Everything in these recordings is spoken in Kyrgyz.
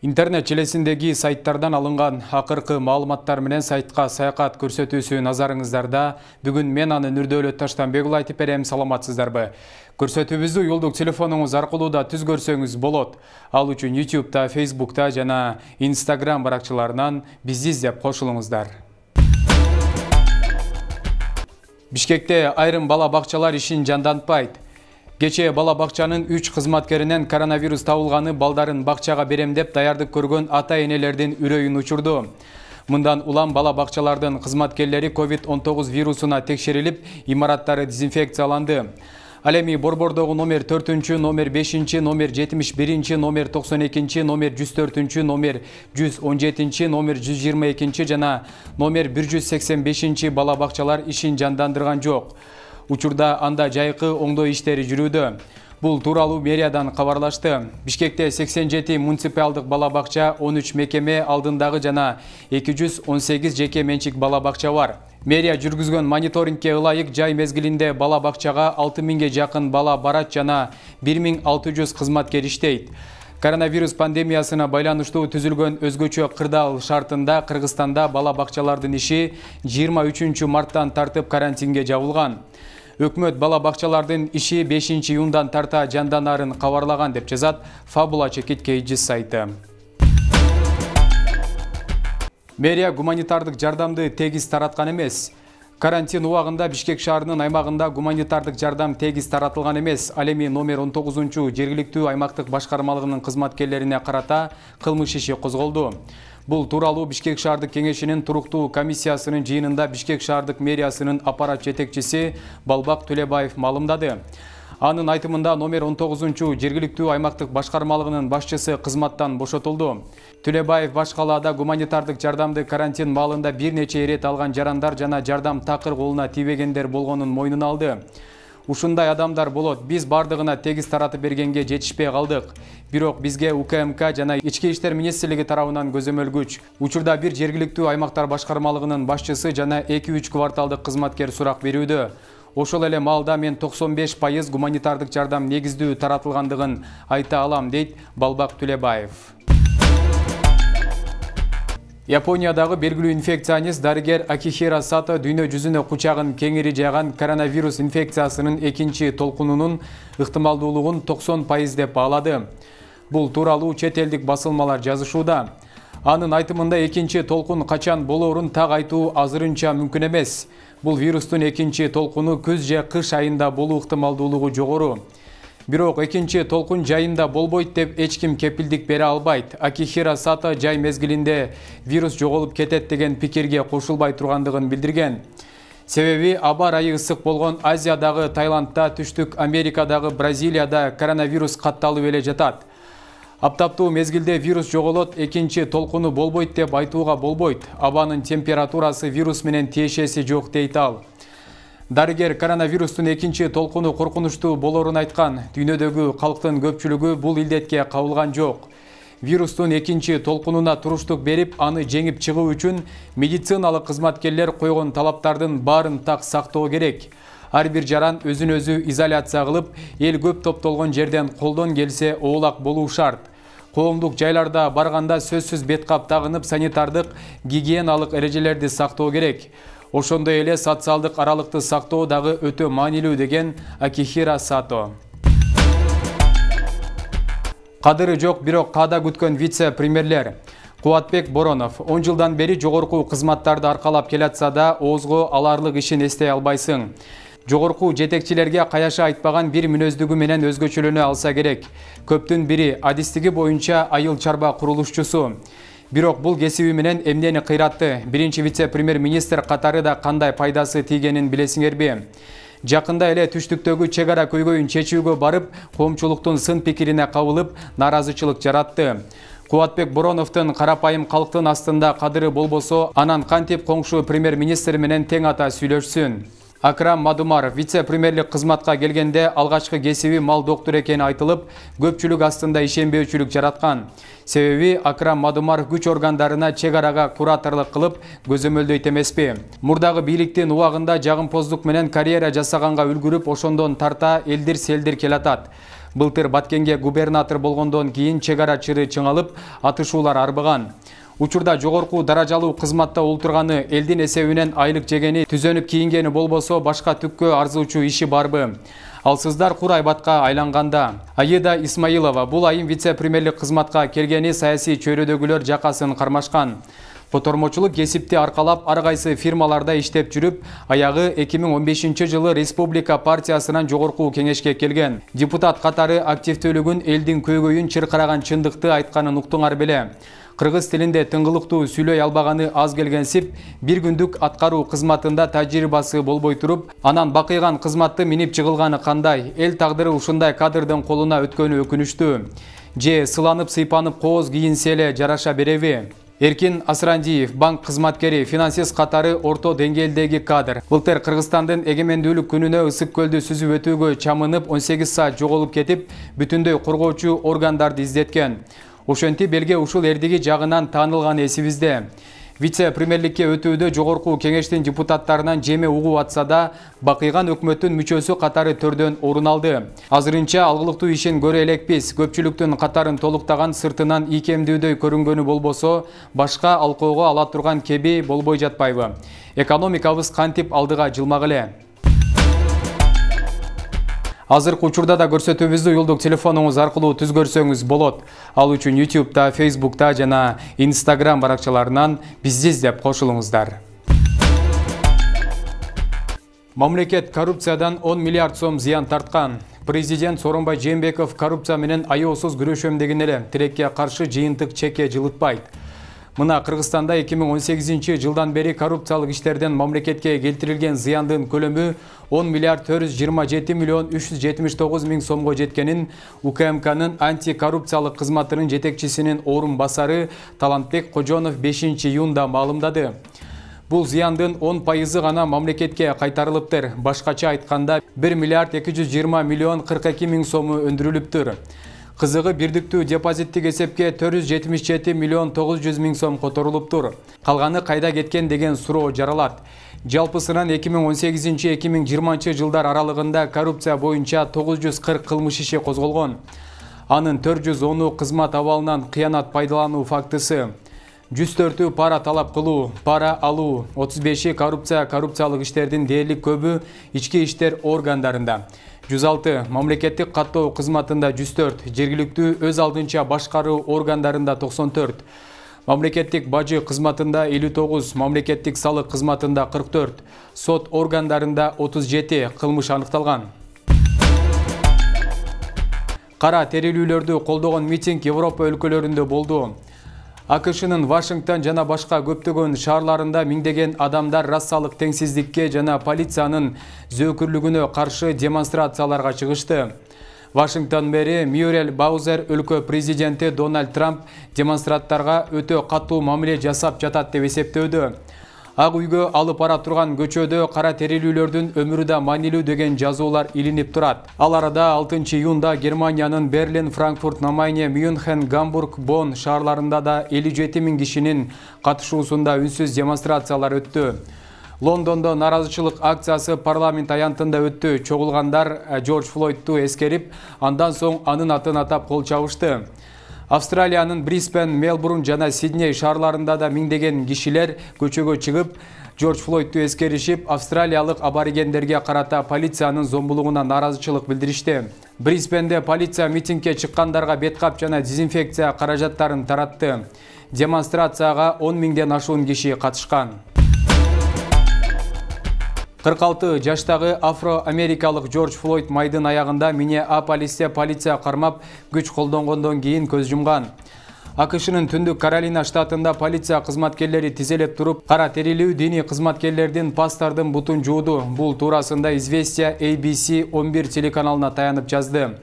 Интернет желесиндеги сайттардан алынган акыркы маалыматтар менен сайтка саякат көрсөтүүсү назарыңыздарда. Бүгүн мен аны Нурдөөлөт Таштанбек уулу айтып берем. Саламатсыздарбы? Көрсөтүүбүздү уюлдук телефонуңуз аркылуу да түз көрсөңүз болот. Ал үчүн YouTube'да, Facebook'та жана Instagram баракчаларынан бизди издеп кошулуңуздар. Бишкекте айрым бала бакчалар ишин жандантпайт. Кечээ бала бакчанын 3 кызматкеринен коронавирус табылганы балдарын бакчага берем деп даярдык көргөн ата-энелердин үрөйүн учурду. Мындан улам бала бакчалардын кызматкерлери COVID-19 вирусуна текшерилип, имараттары дезинфекцияланды. Ал эми борбордогу номер 4, номер 5, номер 71, номер 92, номер 104, номер 117, номер 122 жана номер 185 бала бакчалар ишин жандандырган жок. Учурда анда жайкы оңдоо иштери жүрүүдө. Бул тууралуу мэриядан кабарлашты. Бишкекте 87 муниципалдык бала бакча, 13 мекеме алдындагы жана 218 жеке менчик бала бакча бар. Мэрия жүргүзгөн мониторингке ылайык жай мезгилинде бала бакчага 6000ге жакын бала барат жана 1600 кызматкер иштейт. Коронавирус пандемиясына байланыштуу түзүлгөн өзгөчө кырдаал шартында Кыргызстанда бала бакчалардын иши 23 марттан тартып карантинге жабылган. Өкмөт бала бакчалардын иши 5 июндан тарта жанданарын кабарлаган деп жазат Фабула Чекит Кейджис сайты. Мэрия гуманитардык жардамды тегиз тараткан эмес. Карантин убагында Бишкек шаарынын аймагында гуманитардык жардам тегиз таратылган эмес. Ал эми номер 19 жергиликтүү аймактык башкармалыгынын кызматкерлерине карата кылмыш иши козголду. Бул тууралуу Бишкек шаардык кеңешинин туруктуу комиссиясынын жыйынында Бишкек шаардык мэриясынын аппарат жетекчиси Балбак Төлөбаев маалымдады. Анын айтымында номер 19 жергиликтүү аймактык башкармалыгынын башчысы кызматтан бошотулду. Төлөбаев баш калаада гуманитардык жардамды карантин маалында бир нече ирет алган жарандар жана жардам такыр колуна тийбегендер болгонун мойнуна алды. Ушундай адамдар болот. Биз бардыгына тегиз таратып бергенге жетишпей калдык. Бирок бизге УКМК жана Ички иштер министрлиги тарабынан көзөмөлгүч. Учурда бир жергиликтүү аймактар башкармалыгынын башчысы жана 2-3 кварталдык кызматкер сурак берүүдө. Ошол эле маалда мен 95% гуманитардык жардам негиздүү таратылгандыгын айта алам, дейт Балбак Төлөбаев. Япониядагы белгилүү инфекционист дарыгер Акихира Сато дүйнө жүзүнө кучагын кеңири жайган коронавирус инфекциясынын экинчи толкунунун ыктымалдуулугун 90% деп баалады. Бул тууралуу чет элдик басылмалар жазышууда. Анын айтымында экинчи толкун качан болоорун так айтуу азырынча мүмкүн эмес. Бул вирустун экинчи толкуну күз же кыш айында болуу ыктымалдуулугу жогору. Бирок экинчи толкун жайында болбойт деп эч ким кепилдик бере албайт. Акихира Сато жай мезгилинде вирус жоголуп кетет деген пикирге кошулбай тургандыгын билдирген. Себеби аба ырайы ысык болгон Азиядагы Таиландда, Түштүк Америкадагы Бразилияда коронавирус катталып эле жатат. Аптаптуу мезгилде вирус жоголот, экинчи толкуну болбойт деп айтууга болбойт. Абанын температурасы вирус менен тиешеси жок, дейт ал. Дарыгер коронавирустун экинчи толкуну коркунучтуу болоорун айткан. Дүйнөдөгү калктын көпчүлүгү бул илдетке кабылган жок. Вирустун экинчи толкунуна туруштук берип, аны жеңип чыгуу үчүн медициналык кызматкерлер койгон талаптардын баарын так сактоо керек. Ар бир жаран өзүн өзү изоляция кылып, эл көп топтолгон жерден колдон келсе оолак болуу шарт. Коомдук жайларда барганда сөзсүз бет кап тагынып, санитардык, гигиеналык эрежелерди сактоо керек. Ошондой эле социалдык аралыкты сактоо дагы өтө маанилүү, деген Акихира Сато. Кадыры жок, бирок каада күткөн вице-премьерлер. Кубатбек Боронов 10 жылдан бери жогорку кызматтарды аркалап келатса да, оозго аларлык ишин эстей албайсың. Жогорку жетекчилерге каяша айтпаган бир мүнөздүгү менен өзгөчөлөнө алса керек. Көптүн бири адистиги боюнча айыл чарба курулушчусу. Бирок бул кесиби менен эмнени кыйратты? Биринчи вице-премьер-министр катары да кандай пайдасы тийгенин билесиңерби? Жакында эле Түштүктөгү чек ара көйгөйүн чечүүгө барып, коомчулуктун сын пикирине кабылып, наразычылык жаратты. Кубатбек Бороновдун карапайым калктын астында кадыры болбосо, анан кантип коңшу премьер-министр менен тең ата сүйлөшсүн? Акрам Мадумаров вице-премьерлик кызматка келгенде алгачкы кесиби мал доктор экени айтылып, көпчүлүк астында ишенбөөчүлүк жараткан. Себеби Акрам Мадумаров күч органдарына чек арага кураторлук кылып көзөмөлдөйт эмеспи. Мурдагы бийликтин убагында жагымпоздук менен карьера жасаганга үлгүрүп, ошондон тарта элдир-селдир келатат. Былтыр Баткенге губернатор болгондон кийин чек ара чыры чыңалып, атышуулар арбыган. Учурда жогорку даражалуу кызматта олтурганы, элдин эсебинен айлык жегени, түзөнүп кийингени болбосо башка түккө арзуучу иши барбы? Алсыздар кур айбатка айланганда. Аида Исмаилова бул айым вице-премьерлик кызматка келгени саясий чөйрөдөгүлөр жакасын кармашкан. Котормочулук кесипти аркалап ар кайсы фирмаларда иштеп жүрүп, аягы 2015-жылы Республика партиясынан жогорку кеңешке келген. Депутат катары активдүүлүгүн элдин көйгөйүн чыркыраган чындыкты айтканын уктуңар беле. Кыргыз тилинде тыңгылыктуу сүйлөй албаганы аз келгенсип, бир күндүк аткаруу кызматында тажрыйбасы болбой туруп, анан бакыйган кызматты минип чыгылганы кандай? Эл тагдыры ушундай кадрдын колуна өткөнү өкүнүчтүү. Же сыланып сыйпанып кооз кийинсе эле жараша береби? Эркин Асрандиев, банк кызматкери, финансист катары орто деңгээлдеги кадр. Былтыр Кыргызстандын эгемендүүлүк күнүнө Ысык көлдү сүзүп өтүүгө чамынып 18 саат жоголуп кетип, бүтүндөй коргоочу органдарды издеткен. Ошентип элге ушул эрдиги жагынан таанылган эсибизде. Вице-премьерликке өтүүдө жогорку кеңештин депутаттарынан жеме угуп атса да, бакыйган өкмөттүн мүчөсү катары төрдөн орун алды. Азырынча алгылыктуу ишин көрө элекпиз. Көпчүлүктүн катарын толуктаган, сыртынан ийкемдүүдөй көрүнгөнү болбосо, башка алкоого ала турган кеби болбой жатпайбы? Экономикабыз кантип алдыга жылмак эле? Азыркы учурда да көрсөтүүбүздү уюлдук телефонуңуз аркылуу түз көрсөңүз болот. Ал үчүн YouTube'да, Facebook'та жана Instagram баракчаларынан бизди издеп кошулуңуздар. Мамлекет коррупциядан 10 миллиард сом зыян тарткан. Президент Сооронбай Жээнбеков коррупция менен аеосуз күрөшөм деген эле тилекке каршы жыйынтык чекке жылытпайт. Мына Кыргызстанда 2018-жылдан бери коррупциялык иштерден мамлекетке келтирилген зыяндын көлөмү 10 миллиард 427 миллион 379 миң сомго жеткенин УКМКнын антикоррупциялык кызматынын жетекчисинин орун басары Талантбек Кожонов 5-июнда маалымдады. Бул зыяндын 10% гана мамлекетке кайтарылыптыр. Башкача айтканда 1 миллиард 220 миллион 42 миң сому өндүрүлүптүр. Кызыгы бирдиктүү депозиттик эсепке 477 миллион 900 миң сом которулуптур. Калганы кайда кеткен деген суроо жаралат. Жалпысынан 2018-2020 жылдар аралыгында коррупция боюнча 940 кылмыш иши козголгон. Анын 410-у кызмат абалынан кыянат пайдалануу фактысы, 104-ü пара талап кылуу, пара алуу, 35-и коррупциялык иштердин дээрлик көбү ички иштер органдарында, 106 мамлекеттик каттоо кызматында 104, жергиликтүү өз алдынча башкаруу органдарында 94, мамлекеттик бажы кызматында 59, мамлекеттик салык кызматында 44, сот органдарында 37 кылмыш аныкталган. Кара терилүүлөрдү колдогон митинг Европа өлкөлөрүндө болду. АКШнын Вашингтон жана башка көптөгөн шаарларында миңдеген адамдар расалык теңсиздикке жана полициянын зөөкүрлүгүнө каршы демонстрацияларга чыгышты. Вашингтон мэри Мюррель Баузер өлкө президенти Дональд Трамп демонстранттарга өтө катуу мамиле жасап жатат деп эсептөөдө. Ак үйгө алып бара турган көчөдө кара терилүүлөрдүн өмүрү да маанилүү деген жазуулар илинип турат. Ал арада 6-июнда Германиянын Берлин, Франкфурт, Намайне, Мюнхен, Гамбург, Бонн шаарларында да 57 миң кишинин катышуусунда үнсүз демонстрациялар өттү. Лондондо наразычылык акциясы парламент аянтында өттү. Чогулгандар Джордж Флойдту эскерип, андан соң анын атын атап кол чабышты. Австралиянын Брисбен, Мелбурн жана Сидней шаарларында да миңдеген кишилер көчөгө чыгып, Джордж Флойдту эскеришип, австралиялык аборигендерге карата полициянын зомбулугуна наразычылык билдиришти. Брисбенде полиция митингге чыккандарга беткап жана дезинфекция каражаттарын таратты. Демонстрацияга 10 миңден ашуун киши катышкан. 46 жаштагы афро-америкалык Джордж Флойд майдын аягында Миннеаполисте полиция кармап күч колдонгондон кийин көз жумган. АКШнын Түндүк Каролина штатында полиция кызматкерлери тизелеп туруп, кара терилүү диний кызматкерлердин пастардын бутун жууду. Бул туурасында Известия ABC 11 телеканалына таянып жазды.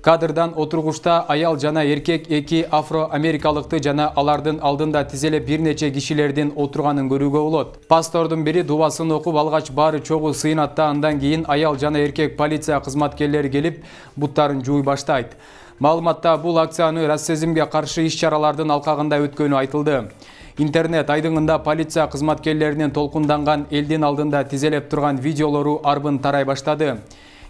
Кадрдан отургучта аял жана эркек эки афро-америкалыкты жана алардын алдында тизелеп бир нече кишилердин отурганын көрүүгө болот. Пастордун бири дубасын окуп алгач баары чогуу сыйнат да, андан кийин аял жана эркек полиция кызматкерлери келип буттарын жууй баштайт. Маалыматта бул акцияны расизмге каршы иш-чаралардын алкагында өткөнү айтылды. Интернет айдыңында полиция кызматкерлеринин толкунданган элдин алдында тизелеп турган видеолору арбын тарай баштады.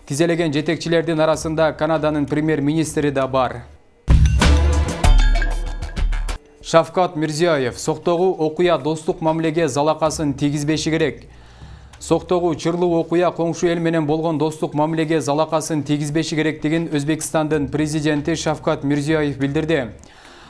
Тизелеген жетекчилердин арасында Канаданын премьер-министри да бар. Шавкат Мирзиёев: Соктогу окуя достук мамилеге залакасын тийгизбеши керек. Соктогу чырлуу окуя коңшу эл менен болгон достук мамилеге залакасын тийгизбеши керектигин Өзбекстандын президенти Шавкат Мирзиёев билдирди.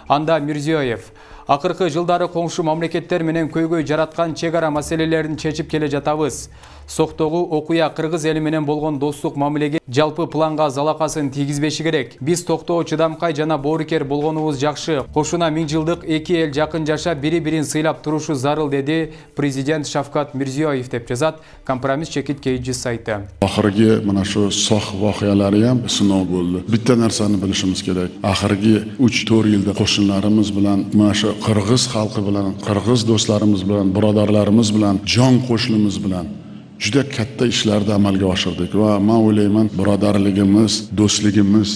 Анда Мирзиёев: акыркы жылдары коңшу мамлекеттер менен көйгөй жараткан чек ара маселелерин чечип келе жатабыз. Соктогу окуя кыргыз эли менен болгон достук мамилеге жалпы планга залакасын тийгизбеши керек. Биз токтоо, чыдамкай жана боорукер болгонубуз жакшы. Кошуна 1000 жылдык эки эл жакын жашап, бири-бирин сыйлап турушу зарыл, деди президент Шавкат Мирзиёев, деп жазат Компромисс чекит KG сайты. Ахыргы мына шу сох воқеалары ham сыноо болду. Bitta narsani bilishimiz kerak. Ахыргы 3-4 yilda qo'shnlarimiz bilan, mana shu qirg'iz xalqi bilan, qirg'iz do'stlarimiz bilan, birodarlarimiz bilan, jon qo'shnimiz bilan juda katta ishlarni amalga oshirdik va men o'ylayman, birodarligimiz, do'stligimiz,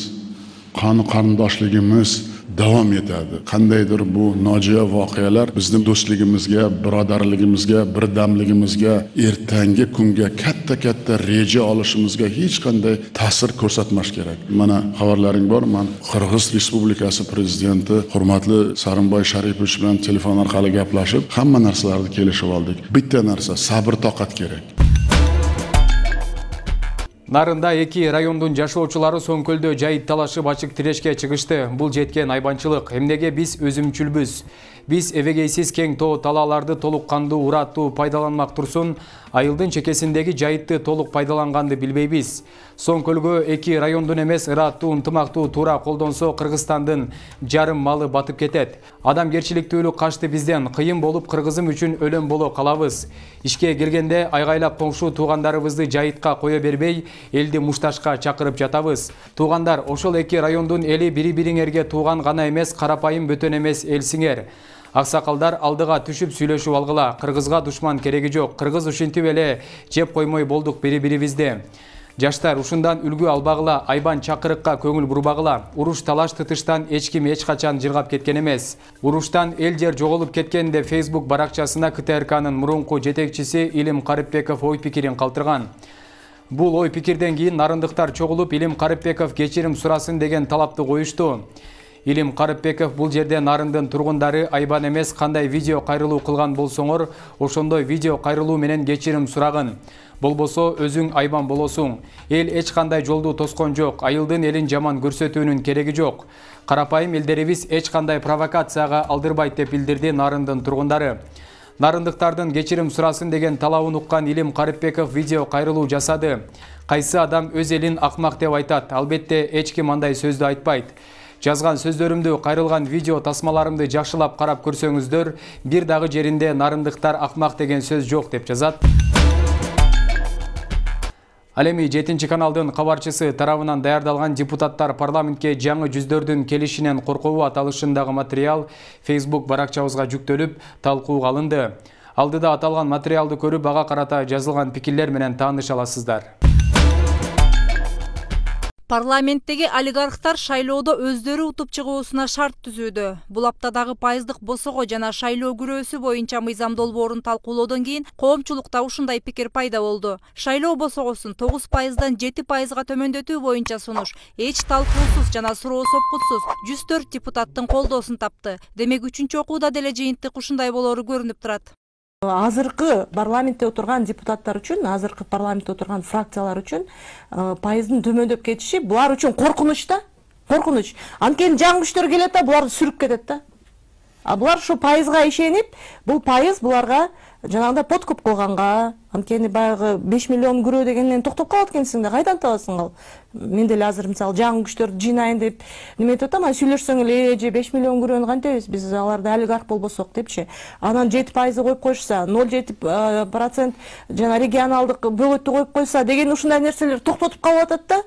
qon qarindoshligimiz davom etadi. Qandaydir bu nojo'ya voqealar bizning do'stligimizga, birodarligimizga, birdamligimizga, ertangi kunga katta reja olishimizga hech qanday ta'sir ko'rsatmas kerak. Mana xabarlaring bor, men Qirg'iz Respublikasi prezidenti hurmatli Sarimboy Sharipovich bilan telefon orqali gaplashib, hamma narsalarni kelishib oldik. Bitta narsa, sabr toqat kerak. Нарында эки райондун жашоочулары Соңкөлдө жайыт талашып ачык тирешке чыгышты. Бул жеткен айбанчылык. Эмнеге биз өзүмчүлбүз? Биз эбегейсиз кең тоо талааларды толук кандуу, ураттуу пайдаланмак турсун, айылдын чекесиндеги жайытты толук пайдаланганды билбейбиз. Соңкөлгө эки райондун эмес, ыраттуу, ынтымактуу туура колдонсо Кыргызстандын жарым малы батып кетет. Адамгерчиликтүүлүк качты бизден, кыйын болуп кыргызым үчүн өлөм боло калабыз. Ишке келгенде айгайлап коңшу туугандарыбызды жайытка кое бербей, элди мушташка чакырып жатабыз. Туугандар, ошол эки райондун эли бири-бириңерге тууган гана эмес, карапайым бөтөн эмес элсиңер. Аксакалдар, алдыга түшүп сүйлөшүп алгыла. Кыргызга душман кереги жок. Кыргыз ушинтип эле жеп коймой болдук бири-бирибизди. Жаштар, ушундан үлгү албагыла, айбан чакырыкка көңүл бурбагыла. Уруш талаш тытыштан эч ким эч качан жыргап кеткен эмес. Уруштан эл жер жоголуп кеткенде Facebook баракчасына КТРКнын мурунку жетекчиси Илим Карыпбеков ой пикирин калтырган. Бул ой пикирден кийин нарындыктар чогулуп Илим Карыпбеков кечирим сурасын деген талапты коюшту. Илим Карыпбеков бул жерде нарындын тургундары айбан эмес, кандай видео кайрылуу кылган болсоңор, ошондой видео кайрылуу менен кечирим сурагын. Болбосо өзүң айбан болосуң. Эл эч кандай жолду тоскон жок. Айылдын элин жаман көрсөтүүнүн кереги жок. Карапайым элдерибиз эч кандай провокацияга алдырбайт, деп билдирди нарындын тургундары. Нарындыктардын кечирим сурасын деген талабын уккан Илим Карыпбеков видео кайрылуу жасады. Кайсы адам өз элин акмак деп айтат? Албетте эч ким андай сөздү айтпайт. Жазган сөздөрүмдү, кайрылган видео тасмаларымды жакшылап карап көрсөңүздөр, бир дагы жеринде нарындыктар акмак деген сөз жок, деп жазат. Ал эми 7 каналдын кабарчысы тарабынан даярдалган депутаттар парламентке жаңы жүздөрдүн келишинен коркобу аталышындагы материал Facebook баракчабызга жүктөлүп, талкууга алынды. Алдыда аталган материалды көрүп, ага карата жазылган пикирлер менен тааныша аласыздар. Парламенттеги олигархтар шайлоодо өздөрү утуп чыгуусуна шарт түзүүдө. Бул аптадагы пайыздык босого жана шайлоо күрөөсү боюнча мыйзам долбоорун талкуулоодон кийин коомчулукта ушундай пикир пайда болду. Шайлоо босогосун 9%дан 7%га төмөндөтүү боюнча сунуш эч талкуусуз жана суроо сопкутсуз 104 депутаттын колдоосун тапты. Демек 3-чү окууда деле жыйынтык ушундай болоору көрүнүп турат. Азыркы парламентте отурган депутаттар үчүн, азыркы парламентте отурган фракциялар үчүн пайыздын төмөндөп кетиши булар үчүн коркунуч да. Коркунуч. Анткени жаңы күчтөр келет да, буларды сүрүп кетет да. А булар ушу пайызга ишенип, бул пайыз буларга жанагындай подкуп кылганга, анткени баягы 5 миллион күрөө дегенден токтоп калат экенсиң да, кайдан табасың ал? Мен деле азыр мисалы жаңы күчтөрдү жыйнайын деп неметип атам, сүйлөшсөң эле же 5 миллион күрөөнү кантебиз биз аларды олигарх болбосок депчи. Анан 7% коюп койшса, 0,7% жана регионалдык бөгөттү коюп койса деген ушундай нерселер токтотуп калып атат да.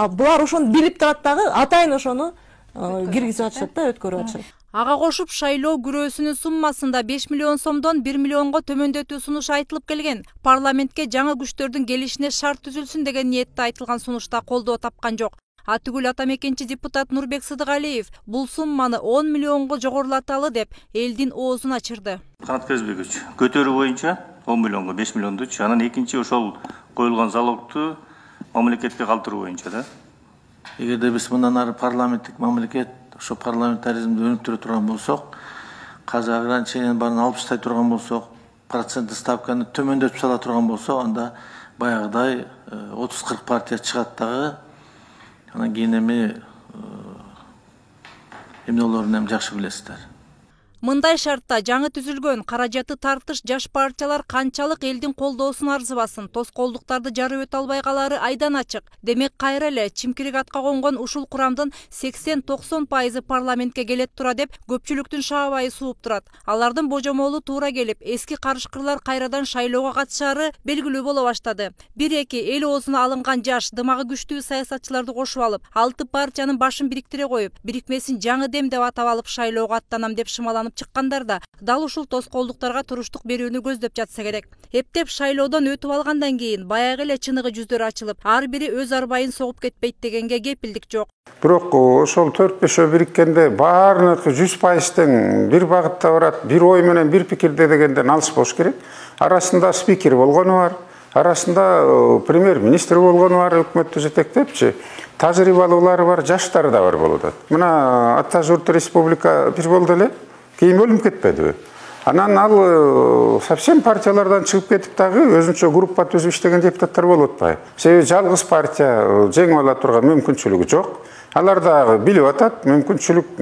Булар ошону билип турат дагы, атайын ошону киргизип атышат да, өткөрүп атышат. Ага кошуп шайлоо күрөөсүнүн суммасында 5 миллион сомдон 1 миллионго төмөндөтүү сунушу айтылып келген. Парламентке жаңы күчтөрдүн келишине шарт түзүлсүн деген ниетте айтылган сунушта колдоо тапкан жок. Атүгүл атамекенчи депутат Нурбек Сыдыгалиев бул сумманы 10 миллионго жогорулаталы деп элдин оозун ачырды. Канат Кезбекович, көтөрүү боюнча 10 миллионго 5 миллионду, анан экинчи ошол коюлган залогту мамлекетке калтыруу боюнча да. Эгерде биз мындан ары парламенттик мамлекет, ошо парламентаризмди өнүктүрө турган болсок, казыр ограничениянын баарын алып таштай турган болсок, проценттик ставканы төмөндөтүп сала турган болсок, анда баягыдай 30-40 партия чыгат дагы. Анан кийин эмне болорун жакшы билесиздер. Мындай шартта жаңы түзүлгөн каражаты тартыш жаш партиялар канчалык элдин колдоосун арзыбасын, тоскоолдуктарды жарып өтө албай калары айдан ачык. Демек кайра эле чимкирик атка конгон ушул курамдын 80-90% парламентке келет тура деп көпчүлүктүн шаабайы сууп турат. Алардын божомолу туура келип, эски карышкырлар кайрадан шайлоого катышары белгилүү боло баштады. 1-2 эл оозуна алынган жаш, дымагы күчтүү саясатчыларды кошуп алып, 6 партиянын башын бириктире коюп, бирикмесин жаңы дем деп атап алып шайлоого аттанам деп шымаланып чыккандарда дал ушул тоскоолдуктарга туруштук берүүнү көздөп жатса керек. Эптеп шайлоодон өтүп алгандан кийин баягы эле чыныгы жүздөр ачылып, ар бири өз арбайын согуп кетпейт дегенге кепилдик жок. Бирок ошол 4-5 бириккенде баардык 100%-тен бир багытта барат, бир ой менен бир пикирде дегенден алыс болуш керек. Арасында спикер болгону бар, арасында премьер-министр болгону бар, өкмөттү жетектепчи. Тажрыйбалуулары бар, жаштары да бар болуп атат. Мына Ата Журт Республика бир болду эле. Кейін бөлініп кетпеді. Анан ал совсем партиялардан чыгып кетип дагы өзүнчө группа түзүп иштеген депутаттар болуп атпайбы? Себеби жалгыз партия жеңип ала турган мүмкүнчүлүгү жок. Алар дагы билип атат, мүмкүнчүлүк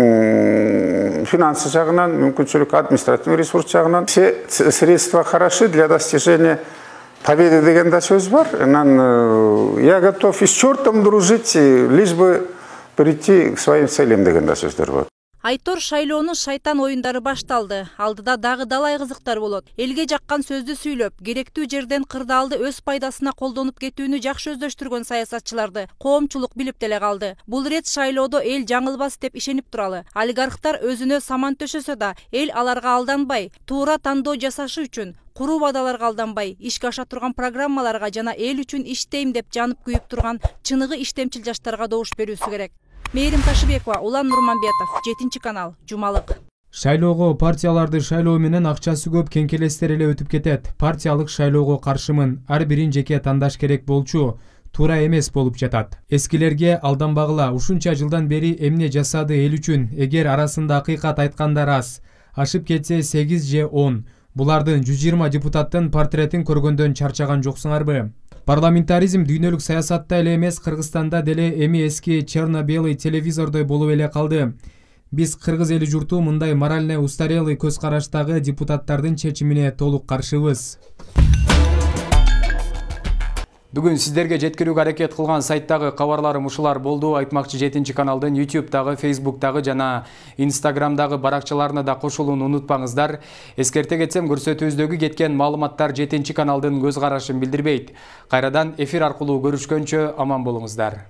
финансы жагынан, мүмкүнчүлүк административный ресурс жагынан. Все средства хороши для достижения победы деген да сөз бар. Анан я готов и с чертом дружить, лишь бы прийти к своим целям деген да сөздөр бар. Айтор шайлоонун шайтан оюндары башталды. Алдыда дагы далай кызыктар болот. Элге жаккан сөздү сүйлөп, керектүү жерден кырдаалды өз пайдасына колдонуп кетүүнү жакшы өздөштүргөн саясатчыларды коомчулук билип деле калды. Бул рет шайлоодо эл жаңылбас деп ишенип туралы. Олигархтар өзүнө саман төшөсө да, эл аларга алданбай, туура тандоо жасашы үчүн куруу бадаларга алданбай, ишке аша турган программаларга жана эл үчүн иштейм деп жанып күйүп турган чыныгы иштемчил жаштарга добуш берүүсү керек. Мээрим Ташыбекова, Улан Нурманбетов, 7-канал, Жумалык. Шайлоого партияларды шайлоо менен акчасы көп кеңкелестер эле өтүп кетет. Партиялык шайлоого каршымын, ар бирин жеке тандаш керек болчу. Туура эмес болуп жатат. Эскилерге алданбагыла, ушунча жылдан бери эмне жасады эл үчүн, эгер арасында акыйкат айткандар аз. Ашып кетсе 8 же 10. Булардын 120 депутаттын портретин көргөндөн чарчаган жоксуңарбы? Парламентаризм дүйнөлүк саясатта эле эмес, Кыргызстанда деле эми эски черно-белый телевизордой болуп эле калды. Биз кыргыз эли журту мындай морально устарелый көз караштагы депутаттардын чечимине толук каршыбыз. Бүгүн сиздерге жеткирүүгө аракет кылган сайттагы кабарларым ушулар болду. Айтмакчы 7-каналдын YouTube'дагы, Facebook'дагы жана Instagram'дагы баракчаларына да кошулууну унутпаңыздар. Эскерте кетсем, көрсөтүүбүздөгү кеткен маалыматтар 7-каналдын көз карашын билдирбейт. Кайрадан эфир аркылуу көрүшкөнчө аман болуңуздар.